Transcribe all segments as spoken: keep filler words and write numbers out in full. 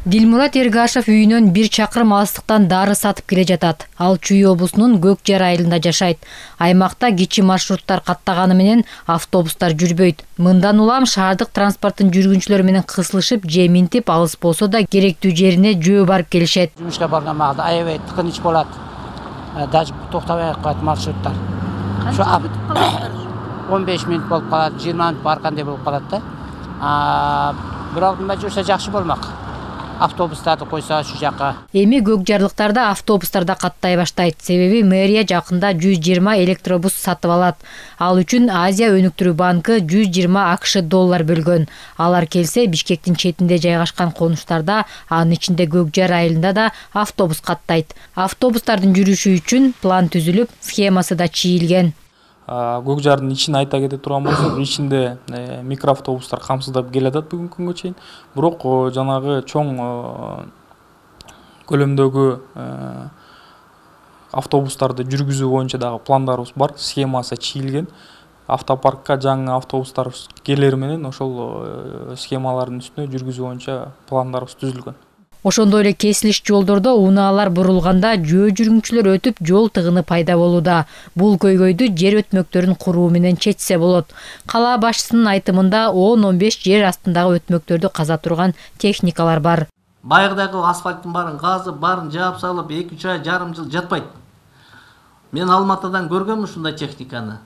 Дилмурат Эргашев үйүнөн бир чакырым алыстыктан дары сатып келе жатат. Ал Чүй облусунун Көк Жар айылында жашайт. Аймакта кичи маршруттар каттаганы менен автобустар жүрбөйт. Мындан улам шаардык транспорттун жүргүнчүлөрү менен кысылышып, же минтип алыс болсо да керектүү жерине жөө барып келишет. Жумушка барган маалда аябай тыкыныч болот. Даже токтобой калат маршруттар. Канча күтүп каласыздар? он беш мүнөт болуп калат, жыйырма мүнөт баргандай болуп калат да. А бирок мына жүрсө жакшы болмок. Автобустарды койсо ушу жакка. Эми көкжарлыктарда автобустар да каттай баштайт. Себеби мэрия жакында жүз жыйырма электробус сатып алат. Ал үчүн Азия өнүктүрүү банкы жүз жыйырма АКШ доллар бөлгөн. Алар келсе Бишкектин четинде жайгашкан конуштарда, анын ичинде Көк Жар айылында да автобус каттайт. Автобустардын жүрүшү үчүн план түзүлүп, схемасы да чийилген. Көк Жардын ичин айта кете турган болсок, ичинде микроавтобустар камсыздап келатат бүгүнкү күнгө чейин. Бирок жанагы чоң көлөмдөгү автобустарды жүргүзүү боюнча дагы пландарыбыз бар, схемасы чийилген. Автопаркка жаңы автобустар келери менен ошол схемалардын үстүнө жүргүзүү боюнча пландарыбыз түзүлгөн. Ошондой эле кесилиш жолдордо унаалар бурулганда жөө жүргүнчүлөр өтүп, жол тыгыны пайда болууда. Бул көйгөйдү жер өтмөктөрүн куруу менен чечсе болот. Кала башчысынын айтымында он он беш жер астындагы өтмөктөрдү каза турган техникалар бар. Байырдагы асфальттын баарын казып, баарын жаап салып, эки үч ай жарым жыл жатпайт. Мен Алматыдан көргөм ушундай техниканы.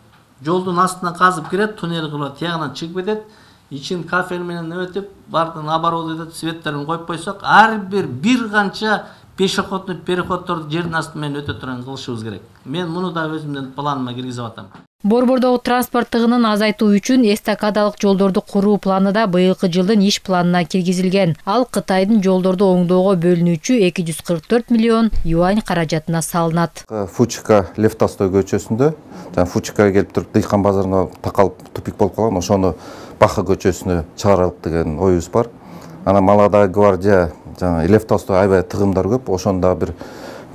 Жолдун астынан казып кирет, туннель кылып, тиягынан чыгып кетет. İçin kafel менен өтүп, бардын оборудованияларды светтерин коюп койсок, ар бир бир канча пешеходный переходдорду жердин асты менен өтө турган кылышыбыз керек. Мен муну да өзүмдүн планыма киргизип атам. Борбордогу транспорт тыгынын азайтуу үчүн эстакадалык жолдорду куруу планы да быйылкы жылдын иш планына киргизилген. Ал Кытайдын жолдорду оңдоого бөлүнүүчү эки жүз кырк төрт миллион юань каражатына салынат. Фучика Лев Толстой көчөсүндө, жана Фучикага келип туруп Дыйкан базарына такалып тупик болуп калган, ошону Баха көчөсүнө чыгаралык деген оюбуз бар. Ана Молодая гвардия, жана Лев Толстой аябай тыгымдар көп. Ошондо бир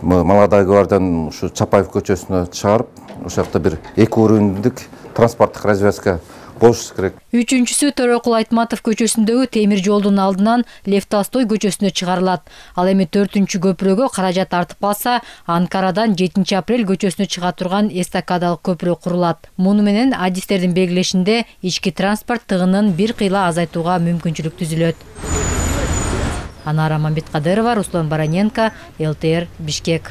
Молодая гвардияны ушу Чапаев көчөсүнө чыгарып, ошол жакта бир эки уровеньдик транспорттук развязка болуш керек. Үчүнчүсү Төрөкул Айтматов көчөсүндөгү темир жолдун алдынан Лев Толстой көчөсүнө чыгарылат. Ал эми төртүнчү көпүрөгө каражат артып калса, Анкарадан жетинчи апрель көчөсүнө чыга турган эстакадалык көпүрө курулат. Муну менен адистердин белгилешинде ички транспорт тыгынын бир кыйла азайтууга мүмкүнчүлүк түзүлөт. Анара Мамбеткадырова, Руслан Бараненко, эл тэ эр, Бишкек.